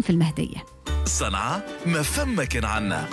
كان في المهدية. صنعة ما فما كان عنا.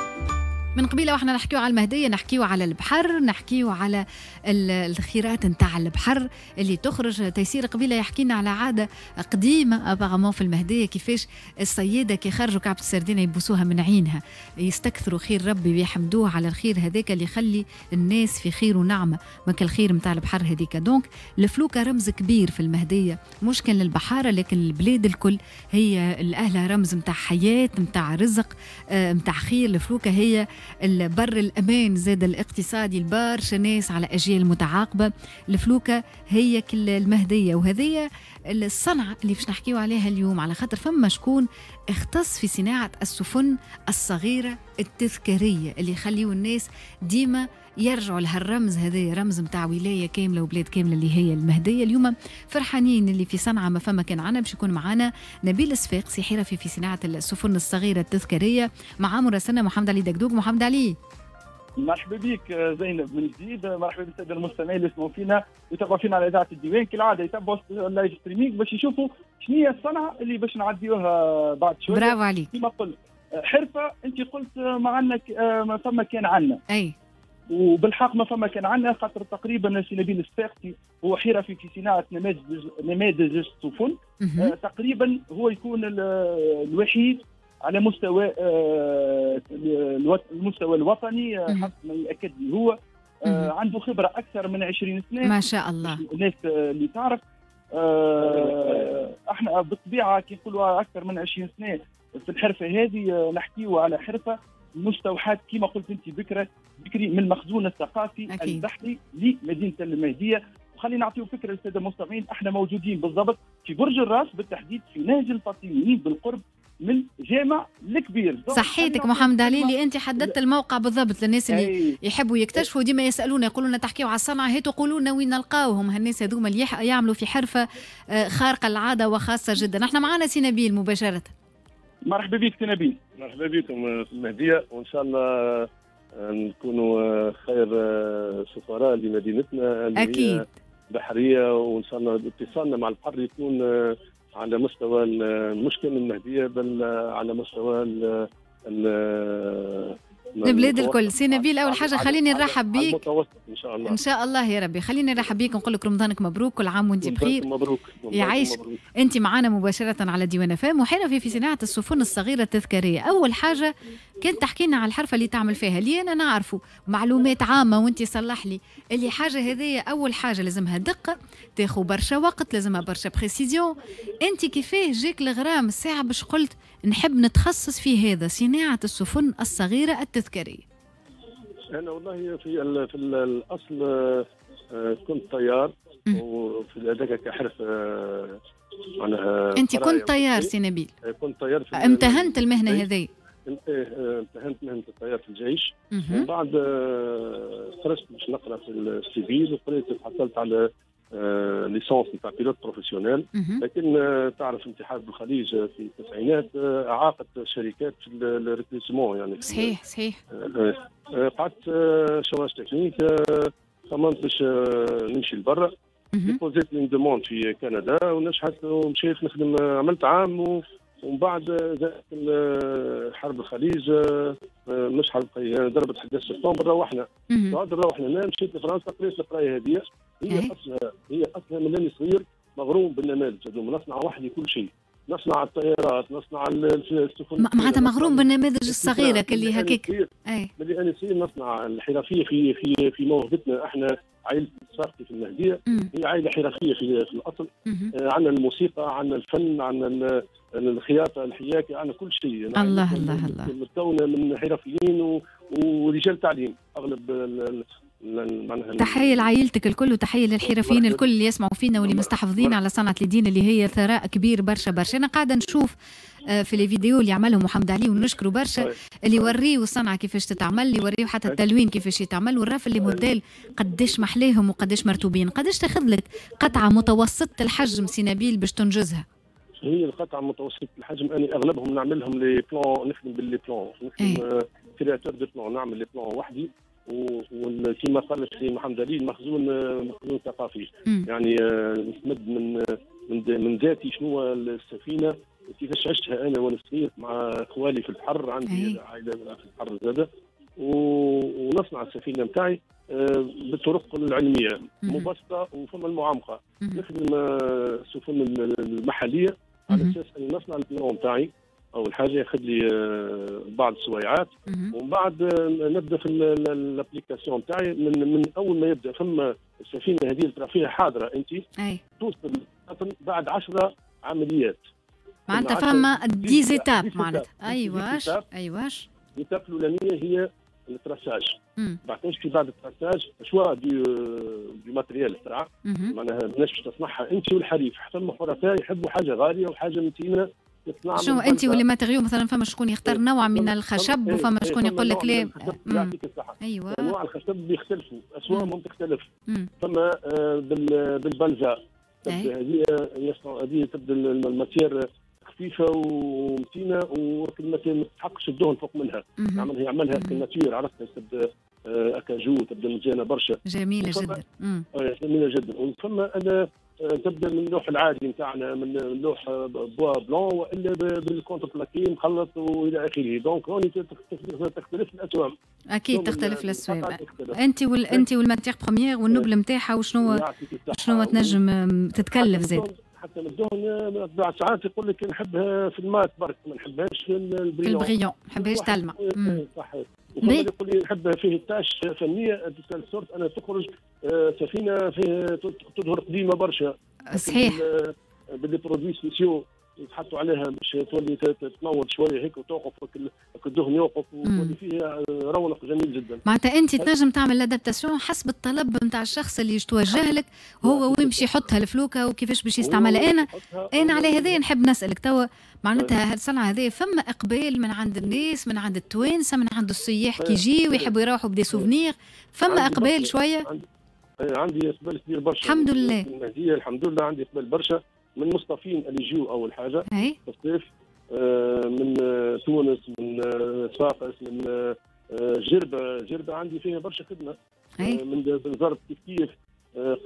من قبيلة واحنا نحكيو على المهدية، نحكيو على البحر، نحكيو على الخيرات نتاع البحر اللي تخرج. تيسير قبيلة يحكينا على عادة قديمة apparemment في المهدية، كيفاش الصياده كي خرجوا كعبه السردينه يبوسوها من عينها، يستكثروا خير ربي ويحمدوه على الخير هذاك اللي يخلي الناس في خير ونعمه، ما الخير نتاع البحر هذيك. donc الفلوكه رمز كبير في المهدية، مش كان للبحاره لكن البلاد الكل، هي الاهلة رمز نتاع حياة، نتاع رزق، نتاع خير. الفلوكه هي البر الأمان زاد الاقتصادي لبرشا ناس على أجيال متعاقبة. الفلوكة هي كل المهدية، وهذه الصنعة اللي باش نحكيو عليها اليوم، على خاطر فما شكون اختص في صناعة السفن الصغيرة التذكارية اللي يخليو الناس ديما يرجعوا لهالرمز هذا، رمز متاع ولاية كاملة وبلاد كاملة اللي هي المهدية. اليوم فرحانين اللي في صنعة ما فما كان عنا، باش يكون معنا نبيل الصفاقسي حرفي في صناعة السفن الصغيرة التذكارية، مع مراسلنا محمد علي دقدوق. محمد علي، مرحبا بك زينب من جديد، مرحبا بالساده المستمعين اللي يسمعوا فينا ويتابعوا فينا على اذاعة الديوان. كالعادة يتابعوا ال live streaming باش يشوفوا شنو هي الصنعة اللي باش نعديوها بعد شوية. برافو عليك. كما قلت حرفه، انت قلت ما عندنا ما فما كان عنا. اي وبالحق ما فما كان عندنا، خاطر تقريبا سي نبيل الصفاقسي هو حرفي في صناعة نماذج السفن. تقريبا هو يكون الوحيد على مستوى المستوى الوطني حسب ما ياكد لي هو. عنده خبره اكثر من 20 سنة ما شاء الله. الناس اللي تعرف احنا بالطبيعة كي نقولوا اكثر من 20 سنة في الحرفة هذه، نحكيو على حرفه مستوحاة كما قلت انت بكري من المخزون الثقافي البحري لمدينة المهدية. وخلينا نعطيو فكرة للسادة المستمعين، احنا موجودين بالضبط في برج الراس، بالتحديد في نهج الفاطميين بالقرب من جامع الكبير. صحيتك محمد علي اللي انت حددت الموقع بالضبط للناس اللي يحبوا يكتشفوا، ديما يسالونا يقولوا لنا تحكيوا على الصنعة، هاتوا قولوا لنا وين نلقاوهم هالناس هذوما اللي يعملوا في حرفه خارقة العادة وخاصة جدا. احنا معنا سي نبيل مباشرة. مرحبا بك سي نبيل. مرحبا بكم في المهدية، وان شاء الله نكونوا خير سفراء لمدينتنا اللي أكيد بحرية، وان شاء الله اتصالنا مع البحر يكون على مستوى مش كان المهدية بل على مستوى البلاد الكل. سي نبيل، اول حاجة خليني نرحب بيك. المتوسط ان شاء الله. ان شاء الله يا ربي. خليني نرحب بيك ونقول لك رمضانك مبروك، كل عام وانت بخير. مبروك. يعيشك. انت معنا مباشرة على ديوان فام، وحرفي في صناعة السفن الصغيرة التذكارية. اول حاجة كنت تحكي لنا على الحرفة اللي تعمل فيها، اللي انا نعرفه معلومات عامة وانت صلح لي اللي حاجة هذه. اول حاجة لازمها دقه، تاخذ برشا وقت، لازمها برشا précision. انت كيفاه جاك الغرام الساعة باش قلت نحب نتخصص في هذا، صناعة السفن الصغيرة التذكارية؟ انا والله في الاصل كنت طيار، وفي هذاك كحرفه معناها. انت كنت طيار سي نبيل؟ كنت طيار. امتهنت المهنة هذه؟ امتهنت مهنة الطيار في الجيش، ومن بعد خرجت باش نقرا في ال civil، وقريت حصلت على licence نتاع pilote professionnel. لكن تعرف انت حرب الخليج في التسعينات اعاقت شركات في ال recrutement يعني. صحيح صحيح. قعدت chômage technique، خممت باش نمشي لبرا، déposé ت une demande في كندا ونجحت ومشيت نخدم، عملت عام ومن بعد جاءت حرب الخليج، مش حرب الخليج، ضربت 11 سبتمبر، روحنا. بعد روحنا انا مشيت لفرنسا، قريت القراية هذه. هي اصلها من اني صغير مغروم بالنماذج هذوما، نصنع وحدي كل شيء، نصنع الطيارات، نصنع السفن. معناتها مغروم بالنماذج الصغيرة اللي هكاك. ملي انا صغير نصنع الحرفية في في في موهبتنا احنا. عائلة الصفاقسي في المهدية هي عائلة حرفية في الاصل. عندنا الموسيقى، عندنا الفن، عندنا الخياطة، الحياكه، عندنا كل شيء. الله الله الله. متكونه من حرفيين ورجال تعليم اغلب. تحية لعائلتك الكل، وتحية للحرفيين الكل اللي يسمعوا فينا واللي مستحفظين على صنعة الدين اللي هي ثراء كبير برشا برشا. أنا قاعدة نشوف في les vidéos اللي عملهم محمد علي ونشكره برشا، اللي يوريو الصنعة كيفاش تتعمل، اللي يوريو حتى التلوين كيفاش يتعمل، والرف les modèles قداش محلاهم وقداش مرتوبين. قداش تاخذ لك قطعة متوسطة الحجم سي نبيل باش تنجزها؟ هي القطعة متوسطة الحجم أنا أغلبهم نعملهم les plans، نخدم ب les plans، نخدم créateur de plans، نعمل les plans وحدي. وكما قال السي محمد علي، المخزون مخزون ثقافي. يعني نستمد من ذاتي شنو السفينة كيفاش عشتها انا وانا صغير مع اخوالي في البحر، عندي عائلة في البحر زاده، ونصنع السفينة نتاعي بالطرق العلمية مبسطة وفما المعمقه. نخدم السفن المحلية على اساس اني نصنع ال plan نتاعي. اول حاجة ياخذ لي بعض السويعات، ومن بعد نبدا في ال application تاعي من اول ما يبدا فما السفينة هذه ترى فيها حاضره انت توصل بعد 10 عمليات. معناتها فما des étapes معناتها. ايواش ايواش. l'étape الاولانية هي ال traçage. بعد في بعد ال traçage choix du matériel ترى معناها ماناش باش تصنعها انت والحريف، حتى الحرفاء يحبوا حاجة غالية وحاجه متينة. شنو انت و les matériaux مثلا فما شكون يختار نوع من الخشب وفما شكون يقول لك لا. يعطيك الصحة. ايوه انواع الخشب بيختلفوا، اسوامهم تختلف. فما بالبلزه هذه هذه تبدا ال matière خفيفة ومتينه وما تستحقش الدهن فوق منها. يعملها في ال nature، عرفتها تبدا acajou، تبدا مزيانه برشا، جميلة جدا. جميلة جدا. وفما انا تبدا من اللوح العادي نتاعنا، من اللوح bois blanc والا بال contreplaqué مخلط والى اخره. donc هوني تختلف الاسوام. اكيد تختلف الاسوام. انت انت وال matière première والنبل نتاعها وشنو شنو تنجم تتكلف زاد. حتى من الدهن بعد ساعات يقول لك نحبها في ال mat برك، ما نحبهاش في ال brillant. في ال brillant ما نحبهاش تلمع. صحيح. وفما يقول لي نحبها فيه tache فنية de sorte انا تخرج سفينة فيه تظهر قديمة برشا. صحيح. ب des produits spéciaux يتحطوا عليها باش تولي تنور شوية هيك وتوقف الدهن يوقف وتولي فيها رونق جميل جدا. معناتها انت تنجم تعمل l'adaptation حسب الطلب نتاع الشخص اللي يتوجه لك هو وين باش يحطها الفلوكه وكيفاش باش يستعملها. انا على هذا نحب نسالك توا معناتها الصنعة هذه فما اقبال من عند الناس، من عند التوانسة، من عند السياح كي يجيو ويحبوا يروحوا ب des souvenirs، فما اقبال شوية؟ عندي اقبال كبير برشا الحمد لله. الحمد لله عندي اقبال برشا من المصطفين اللي يجيو اول حاجة في الصيف، من تونس، من صفاقس، من جربه. جربه عندي فيها برشا خدمة، من بنزرت كيف كيف،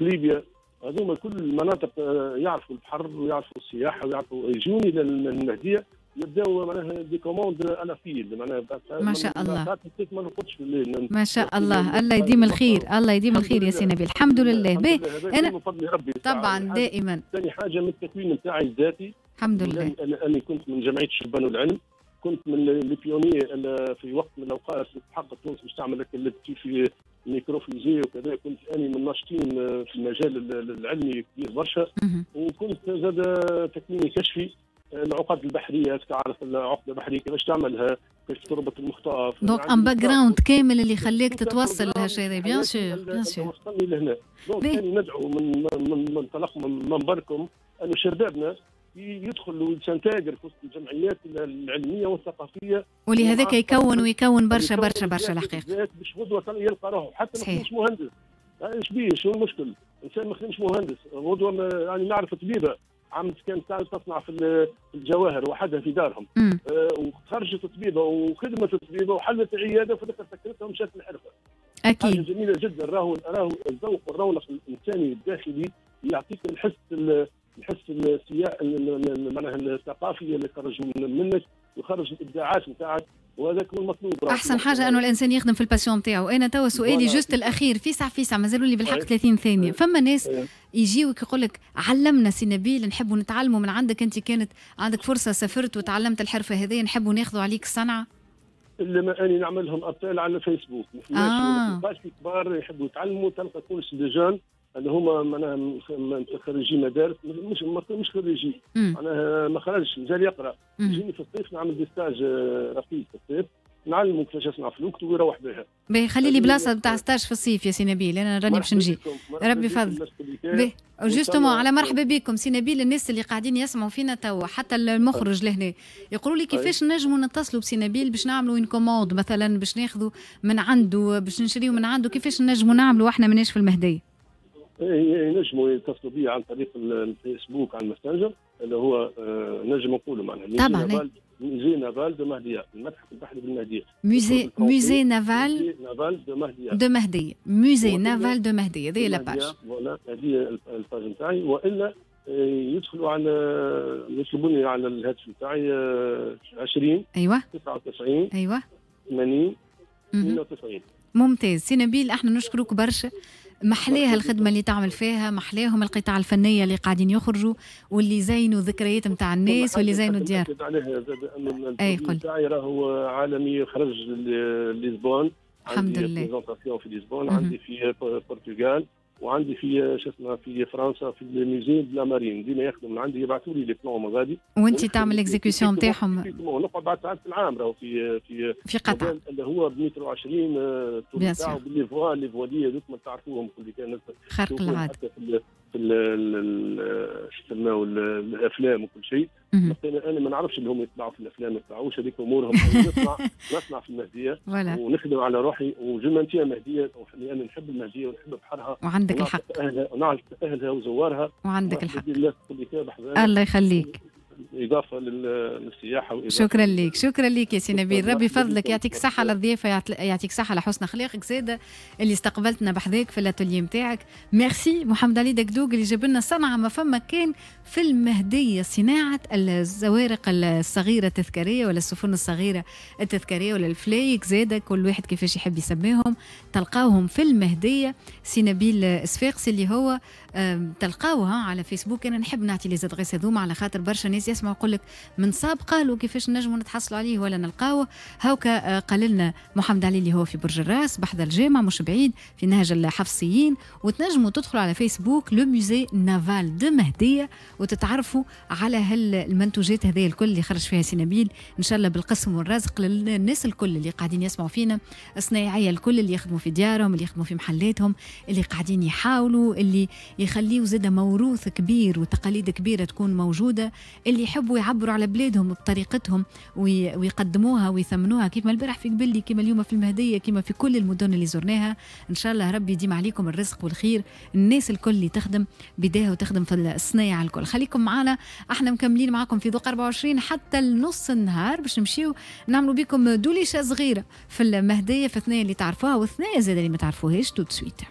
قليبيا. هذوما كل المناطق يعرفوا البحر ويعرفوا السياحة ويعرفوا يجوني للمهديه يبداو معناها des commandes à la file معناها. ما شاء الله ما نرقدش في الليل. ما شاء الله، الله يديم الخير، الله يديم الخير يا سي نبيل. الحمد لله. به انا من فضل ربي طبعا دائما. ثاني حاجة من التكوين نتاعي الذاتي الحمد لله. انا كنت من جمعية الشبان والعلم، كنت من les pionniers في وقت من الاوقات حق تونس باش تعمل لك في micro-fusée وكذا، كنت اني من الناشطين في المجال العلمي كبير برشا. وكنت زاد تكويني كشفي العقد البحرية، تعرف العقدة البحرية كيفاش تعملها، كيفاش تربط المخطاف. donc un background كامل اللي خليك تتوصل لهالشيء هذا. bien sûr bien sûr وصلني لهنا. donc انا ندعو من منطلق من منبركم انه شبابنا يدخل وي s'intègre في وسط الجمعيات العلمية والثقافية، ولهذاك يكون ويكون برشا برشا برشا الحقيقة باش غدوه يلقى روحه حتى ما يكونش مهندس. ايش بيه؟ شنو المشكل؟ انسان ما خدمش مهندس غدوه، يعني نعرف طبيبه عملت كانت تصنع في الجواهر وحدها في دارهم، وخرجت طبيبه وخدمت طبيبه وحلت عيادة وفي الاخر سكرتها ومشات للحرفه. اكيد حاجة جميلة جدا. راهو الذوق والرونق الانساني الداخلي يعطيك الحس معناها الثقافي اللي يخرج منك ويخرج الابداعات نتاعك، وهذاك هو المطلوب. احسن حاجة انه الانسان يخدم في ال passion نتاعو. انا توا سؤالي juste الاخير فيسع فيسع، مازالوا لي بالحق 30 ثانية. فما ناس يجيوك يقول لك علمنا سي نبيل، نحبوا نتعلموا من عندك، انت كانت عندك فرصة سافرت وتعلمت الحرفة هذه، نحبوا ناخذوا عليك الصنعة. الا ما اني نعمل لهم appel على الفيسبوك، ما تلقاش كبار يحبوا يتعلموا، تلقى كلش des jeunes اللي هما معناها خريجي مدارس، مش خريجي معناها ما خرجش مازال يقرا، يجيني في الصيف نعمل des stages rapides في الصيف، نعلمه كيفاش يصنع فلوكت ويروح بها. باهي، خلي لي بلاصة نتاع stage في الصيف يا سي نبيل، انا راني باش نجي. ربي يفضل. باهي justement على مرحبا بكم سي نبيل. الناس اللي قاعدين يسمعوا فينا توا حتى المخرج لهنا يقولوا لي كيفاش نجموا نتصلوا بسي نبيل باش نعملوا une commande مثلا، باش ناخذوا من عنده، باش نشريوا من عنده، كيفاش نجموا نعملوا واحنا ماناش في المهدية؟ ينجموا يتصلوا بي عن طريق الفيسبوك على الماسنجر اللي هو نجم نقولوا معناها طبعا musée naval de Mahdia، المتحف البحري بالمهديه. musée naval naval de Mahdia de Mahdia، musée naval de Mahdia، هذه la page. voilà هذه ال page نتاعي. والا يدخلوا على يطلبوني على الهاتف نتاعي 20 ايوه 99 ايوه 80 92. ممتاز سي نبيل، احنا نشكرك برشا، محليها الخدمة اللي تعمل فيها، محليهم القطع الفنية اللي قاعدين يخرجوا واللي زينوا ذكريات نتاع الناس واللي زينوا الديار. عليها زاد ان ال تاعي راهو عالمي، خرج لشبونة، الحمد لله، présentation في لشبونة، عندي في البرتغال، وعندي في شو اسمه في فرنسا في ال musée de la marine، ديما يخدم من عندي، يبعثوا لي les plans من غادي. وانت تعمل l'exécution نتاعهم. نقعد بعد ساعات في العام راهو في في في قطع اللي هو بمتر 20 الطول نتاعو ب les voiles، les voiliers هذوك ما تعرفوهم كل كان خرق العادة في في شو الافلام وكل شيء. انا ما نعرفش اللي هم يطلعوا في الافلام ما يطلعوش، هذيك امورهم. نصنع في المهدية ونخدم على روحي و je maintiens مهديه لان نحب المهدية ونحب بحرها. وعندك الحق. ونعرف اهلها وزوارها. وعندك الحق. الله يخليك. اضافه للسياحة وإضافة. شكرا لك، شكرا لك يا سي نبيل، ربي فضلك، يعطيك صحة على الضيافه، يعطيك صحة على حسن اخلاقك زاده اللي استقبلتنا بحذاك في l'atelier نتاعك. ميرسي محمد علي دقدوق اللي جاب لنا صنعه ما فما كان في المهديه، صناعة الزوارق الصغيرة التذكارية ولا السفن الصغيرة التذكارية ولا الفلايك زاده، كل واحد كيفاش يحب يسميهم، تلقاوهم في المهدية. سي نبيل صفاقسي اللي هو تلقاوها على فيسبوك. انا نحب نعطي les adresses هذوما على خاطر برشا ناس يسمعوا يقول لك من صاب قالوا كيفاش نجموا نتحصلوا عليه ولا نلقاوه. هاوكا قال لنا محمد علي اللي هو في برج الراس بحذا الجامع مش بعيد في نهج الحفصيين، وتنجموا تدخلوا على فيسبوك le musée naval de مهديه وتتعرفوا على هالمنتوجات هذه الكل اللي خرج فيها سي نبيل. ان شاء الله بالقسم والرزق للناس الكل اللي قاعدين يسمعوا فينا، الصنايعيه الكل اللي يخدموا في ديارهم، اللي يخدموا في محلاتهم، اللي قاعدين يحاولوا، اللي يخليوا زاد موروث كبير وتقاليد كبيرة تكون موجوده، اللي يحبوا يعبروا على بلادهم بطريقتهم ويقدموها ويثمنوها، كيما البارح في قبلي، كيما اليوم في المهدية، كيما في كل المدن اللي زرناها. ان شاء الله ربي يديم عليكم الرزق والخير، الناس الكل اللي تخدم بداها وتخدم في الصنايع الكل. خليكم معنا، احنا مكملين معكم في ذوق 24 حتى النص النهار باش نمشيو نعملوا بكم دوليشه صغيرة في المهدية، في ثنايا اللي تعرفوها وثنايا زاد اللي ما تعرفوهاش. tout de suite.